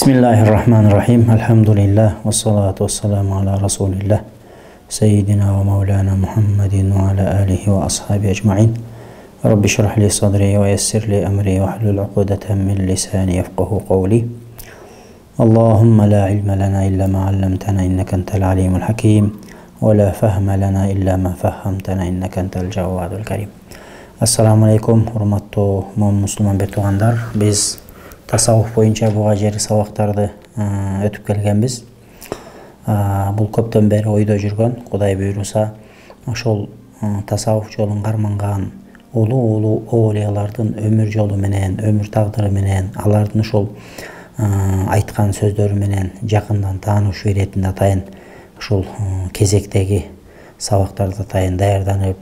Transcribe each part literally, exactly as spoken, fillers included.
Bismillahirrahmanirrahim. Elhamdülillah ve salatu ve selamu ala Resulillah. Seyyidina ve Mevlana Muhammedin ve ala alihi ve ashabi ecma'in. Rabbi şrah li sadri ve yessir li emri ve hlul ukdeten min lisani yefkahu kavli. Allahümme la ilme lana illa ma allamtana inneke entel alimul hakim. Ve la fehme lana illa ma fehhamtana inneke entel cevvadul kerim. Assalamu alaikum, hurmatlı Müslüman bir tuğandar. Biz tasawuf boyunca bu ajeri sabактарды өтүп келгенбиз. Бул көптөн бери ойдо жүргөн, Кудай буйруса, ошол tasawuf жолун карманган улуу улуу оолиялардын өмүр жолу менен, өмүр тагдыры менен, алардын ошол айткан сөздөрү менен жакындан таанышуу иретинде атайын ошол кезектеги сабактарды атайын даярданып,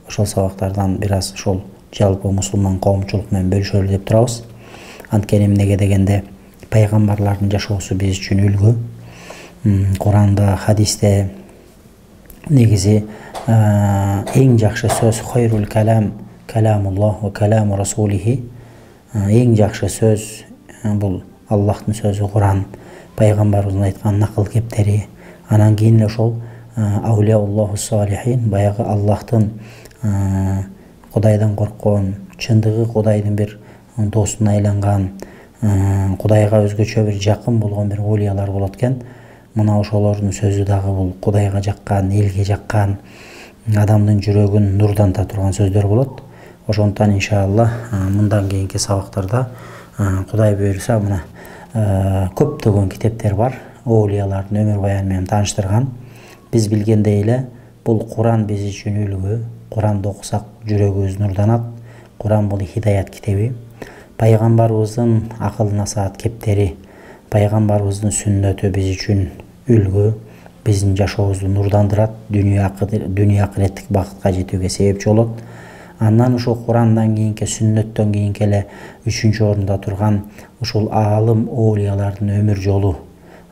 ошол сабактардан бир аз ошол жалпы мусулман коомчулук менен бөлүшөлү деп турабыз. Анткени эмнеге дегенде пайгамбарлардын жашоосу биз үчүн үлгү. Куранда, хадисте негизи эң жакшы сөз хайрул калам каламуллах ва каламу расулихи. Эң жакшы сөз бул Аллахтын сөзү Куран, пайгамбарыбыздын айткан накыл кептери. Анан кийин ошол аулияуллаху салихин, баягы Аллахтын Кудайдан корккон, чындыгы Кудайдын бир досуна айланган, Кудайга өзгөчө бир жакын болгон бир олиялар болот экен. Мына ошолордун сөзү дагы бул Кудайга жаккан, элге жаккан, адамдын жүрөгүн нурданта турган сөздөр болот. Ошондуктан иншалла мындан кийинки сабактарда Кудай буйруса мына көптөгөн китептер бар, олиялардын өмүр баяны менен тааныштырган. Биз билгендей эле бул Куран биз үчүн үлгү. Куранды окусак жүрөгүбүз нурданат. Куран бул хидаят китеби. Пайгамбарыбыздын акыл насаат кептери, пайгамбарыбыздын сүннөтү биз үчүн үлгү, биздин жашообузду нурдандырат, дүнүйө акыреттик бакытка жетүүгө себепчи болот. Андан ошол Курандан кийинки, сүннөттөн кийинки эле үчүнчү орунда турган ушул аалым оолиялардын өмүр жолу,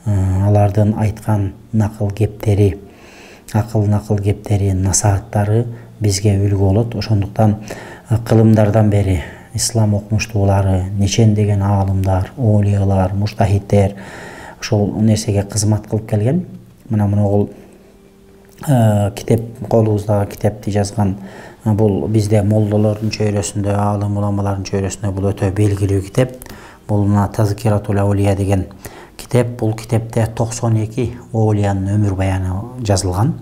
алардын айткан накыл кептери, акыл накыл кептери, насааттары бизге үлгү болот. Ошондуктан кылымдардан бери ислам окумуштуулары, нечендеген аалымдар, оолиялар, муштахиттер ошол нерсеге кызмат кылып келген. Мына мына китеп, колубуздагы китепти жазган бул бизде молдолордун чөйрөсүндө, аалым уламалардын чөйрөсүндө бул өтө белгилүү китеп. Бул мына Тазкиратул аулия деген китеп. Бул китепте токсон эки оолиянын өмүр баяны жазылган.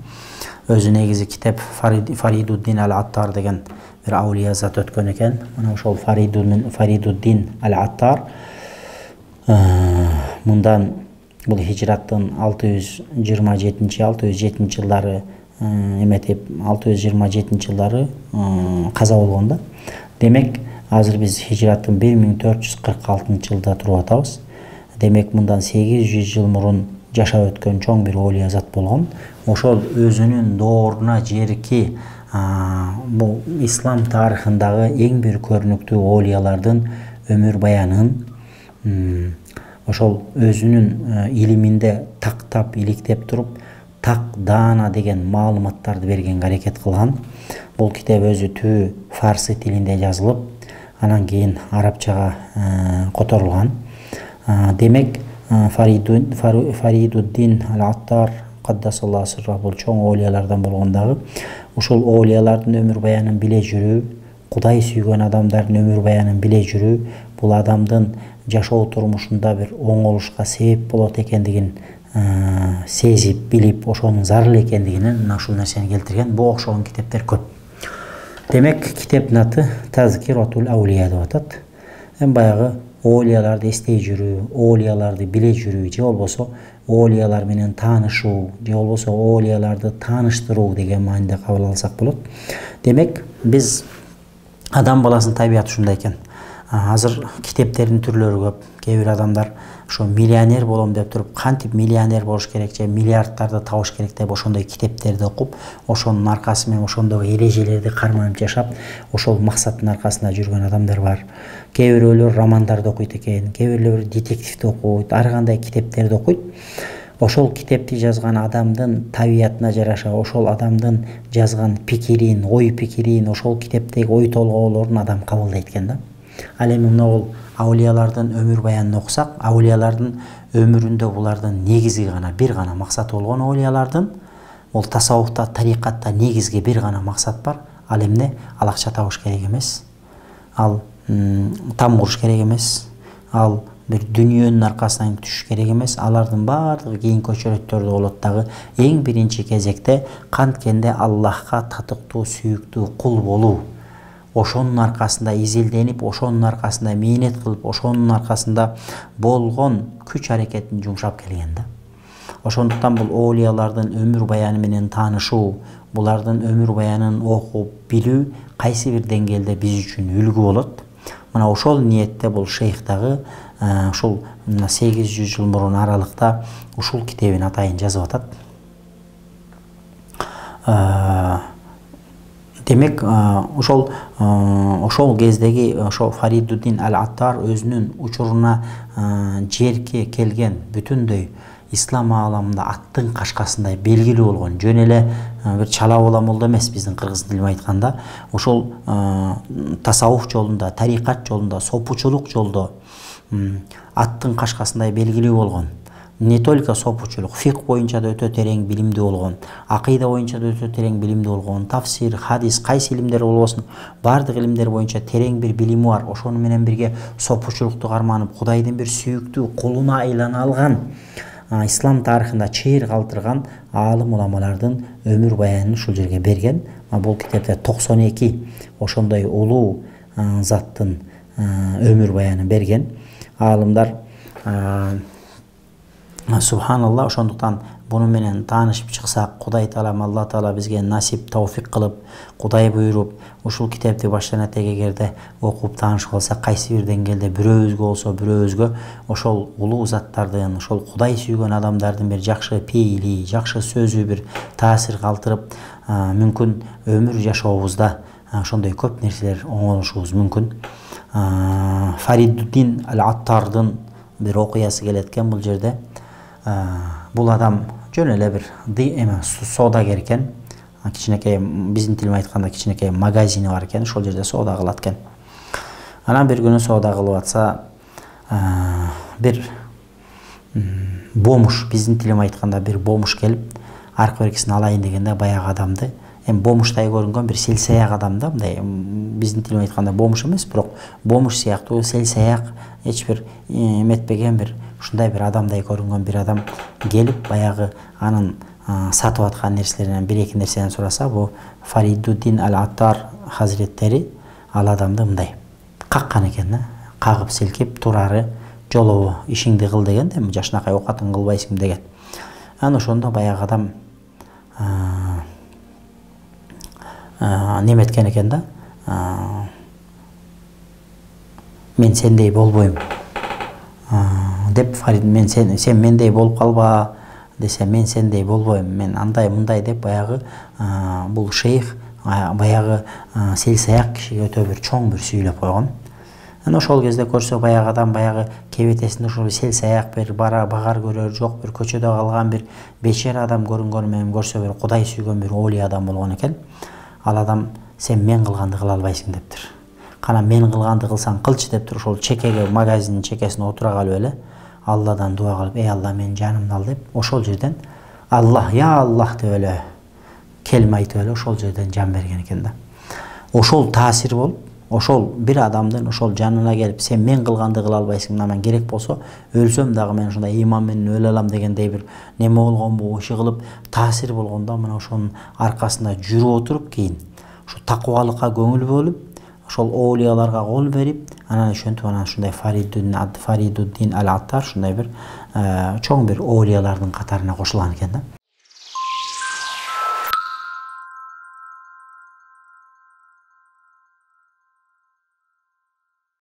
Өзү негизи китеп Фаридуддин ал-Аттар деген бир аулия зат өткөн экен. Мына ошол Фаридуддин ал-Аттар мындан бул хижраттын алты жүз жыйырма жетинчи алты жүз жетинчи жылдары эметип алты жүз жыйырма жетинчи жылдары каза болгон да. Демек азыр биз хижраттын бир миң төрт жүз кырк алтынчы жылда туруп атабыз. Демек мындан сегиз жүз жыл мурун жашап өткөн чоң бир оолия зат болгон. Ошол өзүнүн дооруна жерки бул ислам тарыхындагы эң бир көрүнүктүү оолиялардын өмүр баянын ошол өзүнүн илиминде тактап иликтеп туруп так даана деген маалыматтарды бергенге аракет кылган. Бул китеп өзү түбү фарсы тилинде жазылып, анан кийин арабчага которулган. Демек Фаридуддин ал-Аттар каддасаллаху сирраху бул чоң оолиялардан болгондагы ушул оолиялардын өмүр баянын биле жүрүү, Кудай сүйгөн адамдардын өмүр баянын биле жүрүү бул адамдын жашоо турмушунда бир оңолушка себеп болот экендигин сезип, билип, ошонун зарыл экендигинен мына ушул нерсени келтирген. Буга окшогон китептер көп. Демек китептин аты Тазкиратул аулия деп атат. Эми баягы оолияларды эстей жүрүү, оолияларды биле жүрүү, же болбосо оолиялар менен таанышуу, же болбосо оолияларды тааныштыруу деген мааниде кабыл алсак болот. Демек биз адам баласынын табияты ушундай экен. Азыр китептердин түрлөрү көп. Кээ бир адамдар ошо миллионер болом деп туруп, кантип миллионер болуш керек же миллиардтарды табыш керек деп ошондой китептерди окуп, ошонун аркасы менен ошондогу эрежелерди карманып жашап, ошол максаттын аркасында жүргөн адамдар бар. Кээ бирөөлөр романдарды окуйт экен, кээ бирөөлөр детективди окуйт, ар кандай китептерди окуйт. Ошол китепти жазган адамдын табиятына жараша, ошол адамдын жазган пикирин, ой пикирин, ошол китептеги ой толгоолорун адам кабылдайт экен да. Ал эми могул аулиялардын өмүр баянын окусак, аулиялардын өмүрүндө булардын негизги гана бир гана максаты болгон аулиялардын, бул тасаввуфта, тарикатта негизги бир гана максат бар. Ал эмне? Ал акча табыш керек эмес. Ал там куруш керек эмес. Ал бир дүнүйөнүн аркасынан түшүш керек эмес. Алардын баардыгы кийинки очередтерде болот дагы эң биринчи кезекте канткенде Аллахка татыктуу, сүйүктүү кул болуу. Ошонун аркасында изилденип, ошонун аркасында мээнет кылып, ошонун аркасында болгон күч аракетин жумшап келген да. Ошондуктан бул оолиялардын өмүр баяны менен таанышуу, булардын өмүр баянын окуп билүү кайсы бир деңгээлде биз үчүн үлгү болот. Мына ошол ниетте бул шейх дагы ушул сегиз жүз жыл мурун аралыкта ушул китебин атайын жазып атат. Демек, ошол ошол кездеги ошо Фаридуддин ал-Аттар өзүнүн учуруна жерке келген бүтүндөй ислам ааламында аттын кашкасындай белгилүү болгон, жөн эле бир чала бола молдо эмес, биздин кыргыз тилинде айтканда, ошол тасаввуф жолунда, тарикат жолунда, сопучулук жолдо аттын кашкасындай белгилүү болгон. Не только сопучулук, фикх боюнча да өтө терең билимдүү болгон, акыйда боюнча да өтө терең билимдүү болгон, тафсир, хадис, кайсы илимдер болбосун, бардык илимдер боюнча терең бир билими бар. Ошону менен бирге сопучулукту карманып, Кудайдын бир сүйүктүү кулуна айлана алган, ислам тарыхында чейир калтырган аалым уламалардын өмүр баянын ушул жерге берген. Бул китепте токсон эки ошондой улуу заттын өмүр баянын берген. Аалымдар субханалла, ошондуктан буну менен таанышып чыксак, Кудай Таалам, Алла Таала бизге насип, тауфик кылып, Кудай буйруп, ушул китепти баштан этеге эгерде окуп таанышып алсак, кайсы бир деңгээлде бирөөбүзгө болсо бирөөбүзгө ошол улуу заттардын, ошол Кудай сүйгөн адамдардын бир жакшы пейили, жакшы сөзү бир таасир калтырып, мүмкүн өмүр жашообузда ошондой көп нерселер оңолушубуз мүмкүн. Фаридуддин ал-Аттардын бир окуясы келет экен бул жерде. Бул адам жөн эле бир эме соодагер экен. Кичинекей, биздин тил менен айтканда кичинекей магазини бар экен, ошол жерде соода кылат экен. Анан бир күнү соода кылып атса, бир бомуш, биздин тил менен айтканда бир бомуш келип, аркы беркисин алайын дегенде баягы адамды, эми бомуштай көрүнгөн бир селсаяк адам да, мындай биздин тил менен айтканда бомуш эмес, бирок бомуш сыяктуу селсаяк, эч бир эметпеген бир ушундай бир адамдай көрүнгөн бир адам келип, баягы анын сатып аткан нерселеринен бир эки нерсени сураса, бу Фаридуддин ал-Аттар хазиреттери ал адамды мындай каккан экен да, кагып силкип, турары жолобу, ишиңди кыл деген, эми жашынакай оокатын кылбайсың деген. Анан ошондо баягы адам неметкен экен да, мен сендей болбойм деп, Фарид, мен сен сен мендей болуп калба десе, мен сендей болбойм, мен андай мындай деп, баягы бул шейх баягы селсаяк кишиге өтө бир чоң бир сүйлөп койгон. Анан ошол кезде көрсө, баягы адам баягы кебетесинде ошол селсаяк бир бара багар көрөр жок, бир көчөдө калган бир бечара адам көрүнгөнү менен көрсө, бир Кудай сүйгөн бир оолий адам болгон экен. Ал адам, сен мен кылганды кыла албайсың дептир. Кана мен кылганды кылсаң кылчы дептир. Ошол чекеге, магазиндин чекесине отура калып эле Алладан дуа кылып, эй Алла, мен жанымды ал деп, ошол жерден Аллах, я Аллах деп эле келме айтып эле ошол жерден жан берген экен да. Ошол таасир болуп, ошол бир адамдын ошол жанына келип, сен мен кылганды кыла албайсың, мына керек болсо өлсөм дагы мен ушундай ыйман менен өлө алам дегендей бир неме болгонбу, иши кылып таасир болгондо, мына ошонун аркасында жүрүп отуруп, кийин ушу такыбалыкка көңүл бөлүп, ошол оолияларга кол берип, анан ошентип анан ушундай Фаридуддин ал-Аттар ушундай бир чоң бир оолиялардын катарына кошулган экен да.